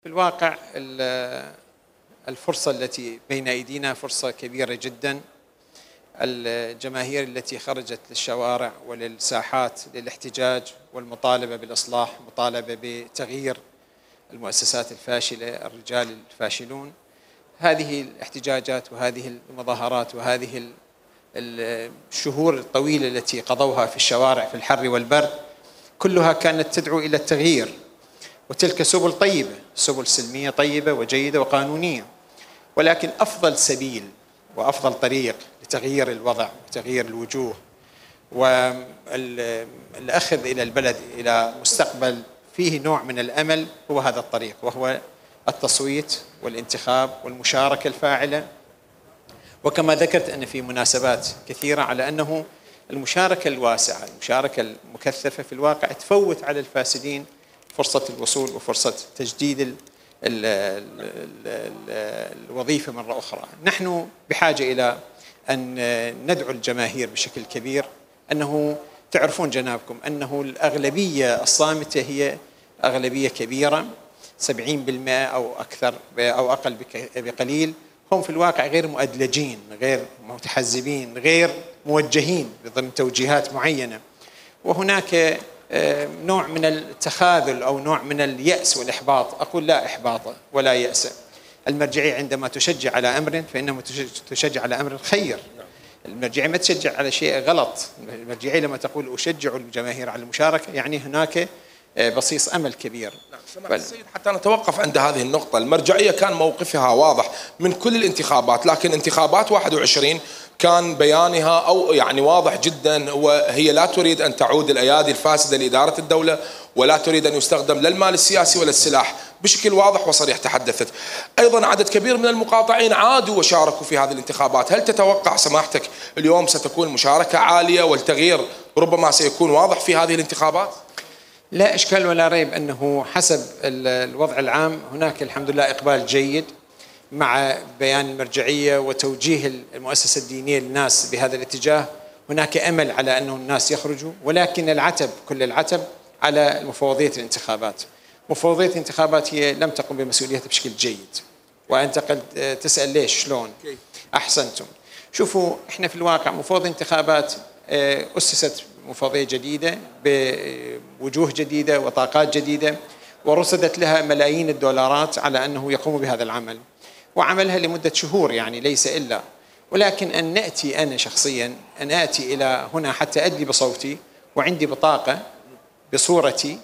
في الواقع الفرصة التي بين أيدينا فرصة كبيرة جدا. الجماهير التي خرجت للشوارع وللساحات للاحتجاج والمطالبة بالإصلاح، مطالبة بتغيير المؤسسات الفاشلة، الرجال الفاشلون، هذه الاحتجاجات وهذه المظاهرات وهذه الشهور الطويلة التي قضوها في الشوارع في الحر والبرد كلها كانت تدعو إلى التغيير، وتلك سبل طيبة، سبل سلمية طيبة وجيدة وقانونية، ولكن أفضل سبيل وأفضل طريق لتغيير الوضع وتغيير الوجوه والأخذ إلى البلد إلى مستقبل فيه نوع من الأمل هو هذا الطريق، وهو التصويت والانتخاب والمشاركة الفاعلة. وكما ذكرت أن في مناسبات كثيرة على أنه المشاركة الواسعة، المشاركة المكثفة في الواقع تفوت على الفاسدين فرصة الوصول وفرصة تجديد الوظيفة مرة أخرى. نحن بحاجة إلى أن ندعو الجماهير بشكل كبير، أنه تعرفون جنابكم أنه الأغلبية الصامتة هي أغلبية كبيرة، 70% أو أكثر أو أقل بقليل، هم في الواقع غير مؤدلجين، غير متحزبين، غير موجهين ضمن توجيهات معينة، وهناك نوع من التخاذل أو نوع من اليأس والإحباط. أقول لا إحباط ولا يأس. المرجعية عندما تشجع على أمر فإنما تشجع على أمر خير. المرجعية ما تشجع على شيء غلط. المرجعية لما تقول أشجع الجماهير على المشاركة يعني هناك بصيص أمل كبير. سماحة السيد، حتى نتوقف عند هذه النقطة، المرجعية كان موقفها واضح من كل الانتخابات، لكن انتخابات 21 كان بيانها أو يعني واضح جدا، وهي لا تريد أن تعود الأيادي الفاسدة لإدارة الدولة، ولا تريد أن يستخدم لا المال السياسي ولا السلاح، بشكل واضح وصريح تحدثت. أيضا عدد كبير من المقاطعين عادوا وشاركوا في هذه الانتخابات. هل تتوقع سماحتك اليوم ستكون مشاركة عالية والتغيير ربما سيكون واضح في هذه الانتخابات؟ لا إشكال ولا ريب أنه حسب الوضع العام هناك الحمد لله إقبال جيد مع بيان المرجعية وتوجيه المؤسسة الدينية للناس بهذا الاتجاه. هناك أمل على أنه الناس يخرجوا، ولكن العتب كل العتب على مفوضية الانتخابات. مفوضية الانتخابات هي لم تقم بمسؤوليتها بشكل جيد، وأنت قد تسأل ليش شلون؟ أحسنتم. شوفوا، إحنا في الواقع مفوضية الانتخابات أسست مفوضية جديدة بوجوه جديدة وطاقات جديدة، ورصدت لها ملايين الدولارات على أنه يقوم بهذا العمل، وعملها لمدة شهور يعني ليس إلا. ولكن أن نأتي أنا شخصيا أن آتي إلى هنا حتى أدلي بصوتي وعندي بطاقة بصورتي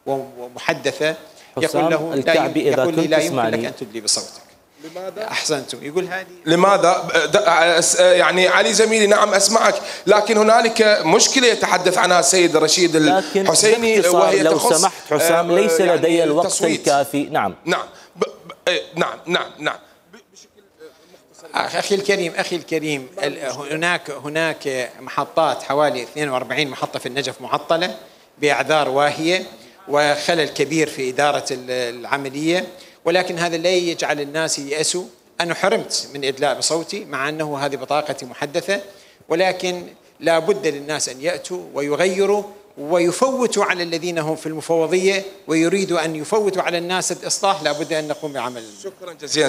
ومحدثة يقول له يقول لي لا يمكن لك أن تدلي بصوتك. لماذا؟ أحسنتم. يقول هذه لماذا؟ يعني علي زميلي نعم أسمعك، لكن هنالك مشكلة يتحدث عنها السيد رشيد الحسيني، وهي لو سمحت حسام ليس لدي الوقت الكافي. نعم نعم. أخي الكريم هناك محطات، حوالي 42 محطة في النجف معطلة بأعذار واهية وخلل كبير في إدارة العملية، ولكن هذا لا يجعل الناس ييأسوا. أنا حرمت من إدلاء بصوتي مع أنه هذه بطاقتي محدثة، ولكن لا بد للناس أن يأتوا ويغيروا ويفوتوا على الذين هم في المفوضية ويريدوا أن يفوتوا على الناس الإصلاح. لا بد أن نقوم بعمل. شكرا جزيلا.